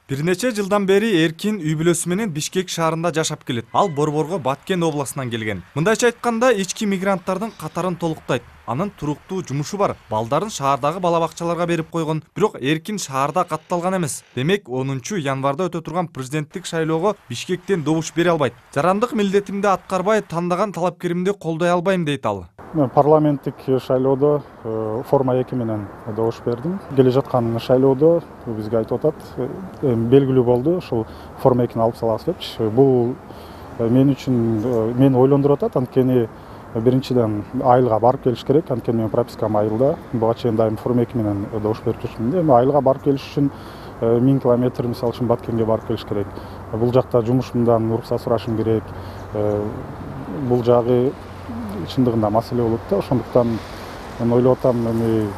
Бир нече жылдан бери Эркин үй бүлөсү менен Бишкек шаарында жашап келет. Ал Борборго Баткен областынан келген. Мындайча айтканда, ички мигранттардын катарын толуктайт. Анын туруктуу жумушу бар. Балдарын шаардагы бала бакчаларга берип койгон. Бирок Эркин шаарда катталган эмес. Демек, 10-январда өтө турган президенттик шайлоого Бишкектен добуш бере албайт. Жарандык милдетимди аткарбай, тандаган талапкеримди колдой албайм дейт ал. Мен парламенттик шайлоодо форма 2 менен добуш бердим. Келе жаткан шайлоодо бизге айтып атат, белгилүү болду, ушул форма 2-ни алып салабыз депчи. Бул мен үчүн мени ойлондуруп атат, анткени биринчиден айылга барып келиш керек, анткени менин пропискам айылда. Буга чейин дайым форма 2 менен добуш берип жүрчүмүн. Эми айылга барып келиш үчүн 1000 километр мисалы үчүн Баткенге барып келиш керек. Бул жакта жумушумдан уруксат сурашым керек. Бул жагы чындыгында маселе болот да, ошондуктан мен ойлоп атам, эми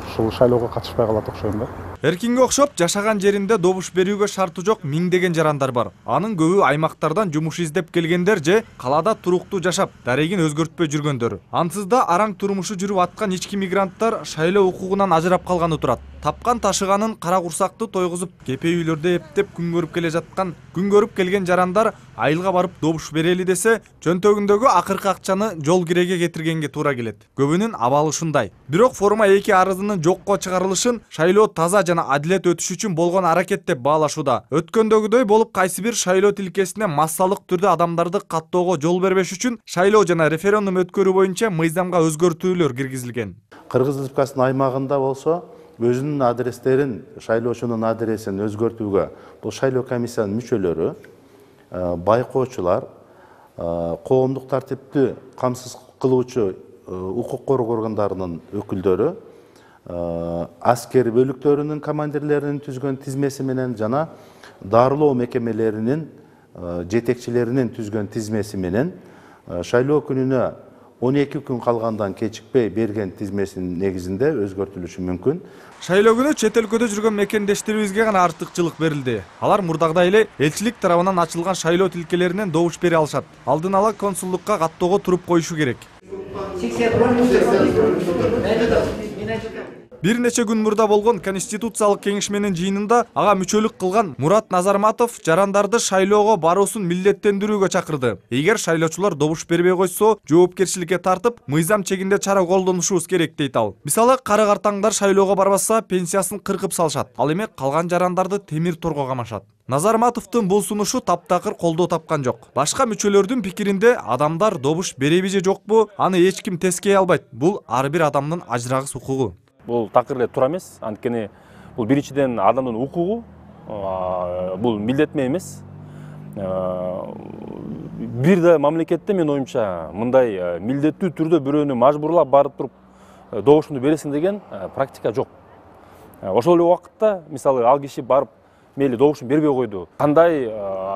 ушул шайлоого катышпай калат окшойм да. Эркинге окшоп жашаган жеринде добуш берүүгө шарты жок миңдеген жарандар бар. Анын көбү аймактардан жумуш издеп келгендер же калаада туруктуу жашап, дарегин өзгөртпөй жүргөндөр. Ансыз да араң турмушу жүрүп аткан ички мигранттар шайлоо укугунан ажырап калганы турат. Тапкан ташыганын кара курсакты тойгузуп, кепе үйлөрдө эптеп күн көрүп келген жарандар айылга барып добуш берели десе, чөнтөгүндөгү акыркы акчаны жол киреге кетиргенге туура келет. Көбүнүн абалы ушундай. Бирок форма 2 арызынын жокко чыгарылышын шайлоо таза жана адилет өтүш үчүн болгон аракет деп баалашууда. Өткөндөгүдөй болуп кайсы бир шайлоо тилкесине массалык түрдө адамдарды каттоого жол бербеш үчүн шайлоо жана референдум өткөрүү боюнча мыйзамга өзгөртүүлөр киргизилген. Кыргыз Республикасынын аймагында болсо өзүнүн адрестерин, шайлоочунун адресин өзгөртүүгө бул шайлоо комиссиянын мүчөлөрү, байкоочулар, коомдук тартипти камсыз кылуучу укук коргоо органдарынын өкүлдөрү, аскер бөлүктөрүнүн командирлеринин түзгөн тизмеси менен жана дарылоо мекемелеринин жетекчилеринин түзгөн тизмеси менен шайлоо күнүнө 12 күн калгандан кечикпей берген тизмесинин негизинде өзгөртүлүшү мүмкүн. Шайлоо күнү чет өлкөдө жүргөн мекендештерибизге гана артыкчылык берилди. Алар мурдагыдай эле элчилик тарабынан ачылган шайлоо тилкелеринен добуш бере алышат. Алдын ала консулдукка каттоого туруп коюшу керек. Бир нече күн мурда болгон Конституциялык кеңешменин жыйынында ага мүчөлүк кылган Мурат Назарматов жарандарды шайлоого баруусун милдеттендирүүгө чакырды. Эгер шайлоочулар добуш бербей койсо, жоопкерчиликке тартып, мыйзам чегинде чара колдонушубуз керек дейт ал. Мисалы, кары-картаңдар шайлоого барбаса, пенсиясын кыркып салышат. Ал эми калган жарандарды темир торго камашат. Назарматовдун бул сунушу таптакыр колдоо тапкан жок. Башка мүчөлөрдүн пикиринде адамдар добуш береби же жокпу, аны эч ким тескей албайт. Бул ар бир адамдын ажырагыс укугу. Бул такыр эле туура эмес, анткени бул биринчиден адамдын укугу, бул милдетме эмес. Бир да мамлекетте менин оюмча мындай милдеттүү түрдө бирөөнү мажбурлап барып туруп добушунду бересиң деген практика жок. Ошол эле убакытта, мисалы, ал киши барып мейли добушун бербей койду. Кандай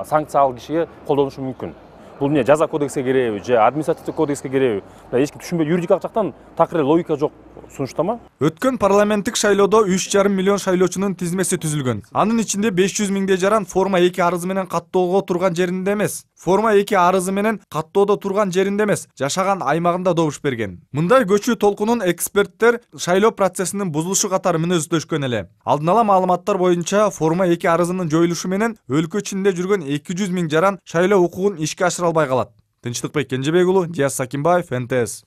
санкция ал кишиге колдонушу мүмкүн? Бул эмне, жаза кодекске киреби же административдик кодекске киреби? Эч ким түшүнбөйт, юридикалык жактан такыр эле логика жок сунуштама. Өткөн парламенттик шайлоодо 3,5 миллион шайлоочунун тизмеси түзүлгөн. Анын ичинде 500 миңдей жаран форма 2 арызы менен каттоого турган жеринде эмес. Форма 2 арызы менен каттоодо турган жеринде эмес, жашаган аймагында добуш берген. Мындай көчүү толкунун эксперттер шайлоо процессинин бузулушу катары мүнөздөшкөн эле. Алдын ала маалыматтар боюнча форма 2 арызынын жоюлушу менен өлкө ичинде жүргөн 200 миң жаран шайлоо укугун ишке ашыра албай калат. Тынчтыкбек Кенжебек уулу, Диас Сакимбаев, НТС.